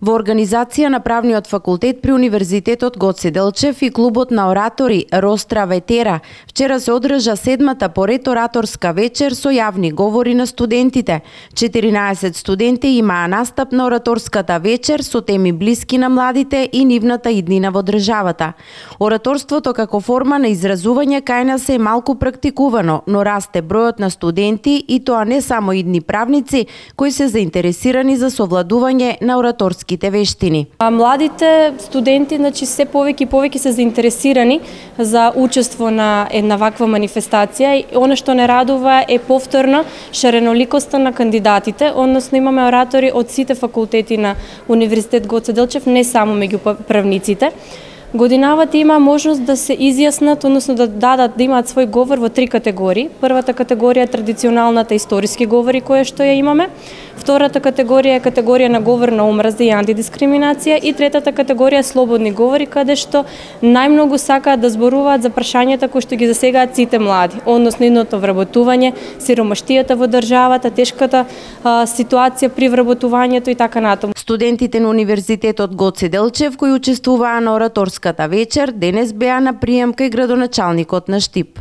Во организација на Правниот факултет при Универзитетот Гоце Делчев и клубот на оратори Ростра Ветера, вчера се одржа седмата поред ораторска вечер со јавни говори на студентите. 14 студенти имаа настап на ораторската вечер со теми блиски на младите и нивната иднина во државата. Ораторството како форма на изразување кај нас е малку практикувано, но расте бројот на студенти и тоа не само идни правници кои се заинтересирани за совладување на ораторските вештини. Младите студенти, се повеќе и повеќе се заинтересирани за учество на една ваква манифестација и она што не радува е повторно шареноликоста на кандидатите, односно имаме оратори од сите факултети на Универзитет Гоце Делчев, не само меѓу правниците. Годинавата има можност да се изјаснат, односно да имаат свој говор во три категории. Првата категорија е традиционалната историски говори која што ја имаме. Втората категорија е категорија на говор на омраза и антидискриминација и третата категорија е слободни говори каде што најмногу сакаат да зборуваат за прашањата кои што ги засегаат сите млади, односно идното вработување, сиромаштијата во државата, тешката ситуација при вработувањето и така натаму. Студентите на Универзитетот Гоце Делчев кои учествуваа на ораторската вечер денес беа на прием кај градоначалникот на Штип.